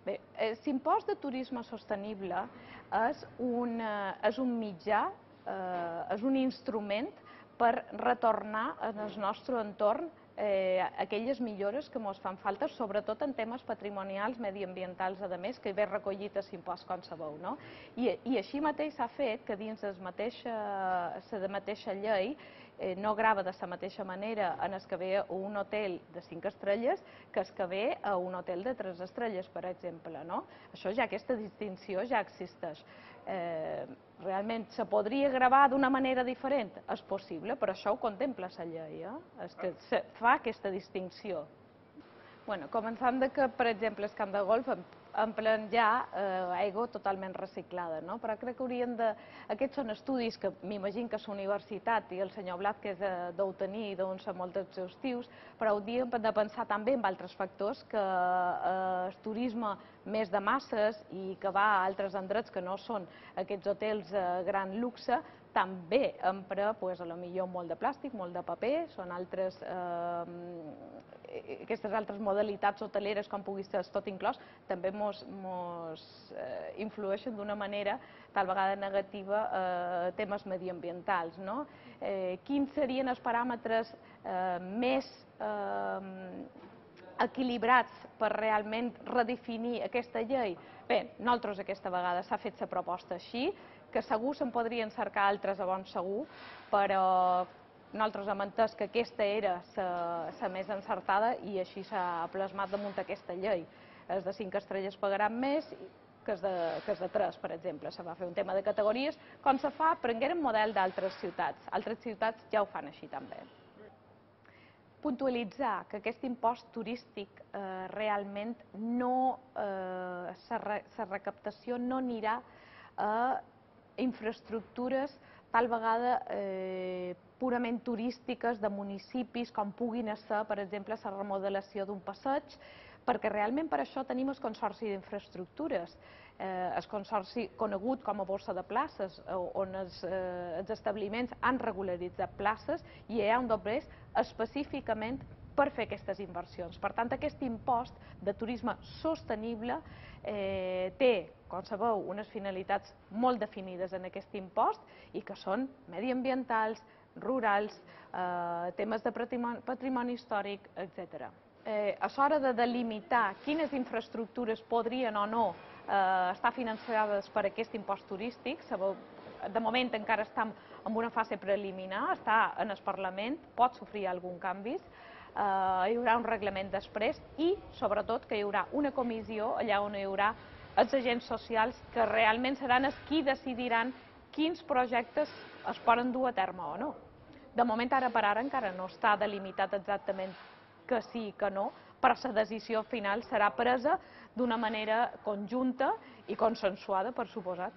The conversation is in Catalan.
Bé, l'impost de turisme sostenible és un mitjà, és un instrument per retornar en el nostre entorn aquelles millores que ens fan falta, sobretot en temes patrimonials, mediambientals, a més, que ve recollit a l'impost, com sabeu. I així mateix s'ha fet que dins la mateixa llei no grava de la mateixa manera en el que ve a un hotel de 5 estrelles que el que ve a un hotel de 3 estrelles, per exemple. Això ja, aquesta distinció ja existeix. Realment se podria gravar d'una manera diferent? És possible, però això ho contempla la llei, és que fa aquesta distinció. Començant que, per exemple, el camp de golf emplen ja aigua totalment reciclada, però crec que haurien de... Aquests són estudis que m'imagino que la universitat i el senyor Blázquez deu tenir i deuen ser molt exhaustius, però hauríem de pensar també en altres factors que el turisme més de masses i que va a altres indrets que no són aquests hotels gran luxe, també empra, potser molt de plàstic, molt de paper, són aquestes altres modalitats hoteleres, com pugui ser tot inclòs, també ens influeixen d'una manera tal vegada negativa a temes mediambientals. Quins serien els paràmetres més equilibrats per realment redefinir aquesta llei? Bé, nosaltres aquesta vegada s'ha fet la proposta així, que segur se'n podrien cercar altres a bon segur, però nosaltres hem entès que aquesta era la més encertada i així s'ha plasmat damunt aquesta llei. Els de 5 estrelles pagaran més que els de 3, per exemple. Se va fer un tema de categories, com se fa, prengueren model d'altres ciutats. Altres ciutats ja ho fan així també. Puntualitzar que aquest impost turístic realment no, la recaptació no anirà a infraestructures tal vegada purament turístiques de municipis, com puguin ser, per exemple, la remodelació d'un passeig, perquè realment per això tenim el Consorci d'Infraestructures, el consorci conegut com a Borsa de Places, on els establiments han regularitzat places i hi ha un doblers específicament per fer aquestes inversions. Per tant, aquest impost de turisme sostenible té, com sabeu, unes finalitats molt definides en aquest impost i que són mediambientals, rurals, temes de patrimoni històric, etc. A l'hora de delimitar quines infraestructures podrien o no estar finançades per aquest impost turístic, sabeu, de moment encara estem en una fase preliminar, està en el Parlament, pot sofrir algun canvi, hi haurà un reglament després i, sobretot, que hi haurà una comissió allà on hi haurà els agents socials que realment seran els qui decidiran quins projectes es poden dur a terme o no. De moment, ara per ara, encara no està delimitat exactament que sí i que no, però la decisió final serà presa d'una manera conjunta i consensuada, per suposat.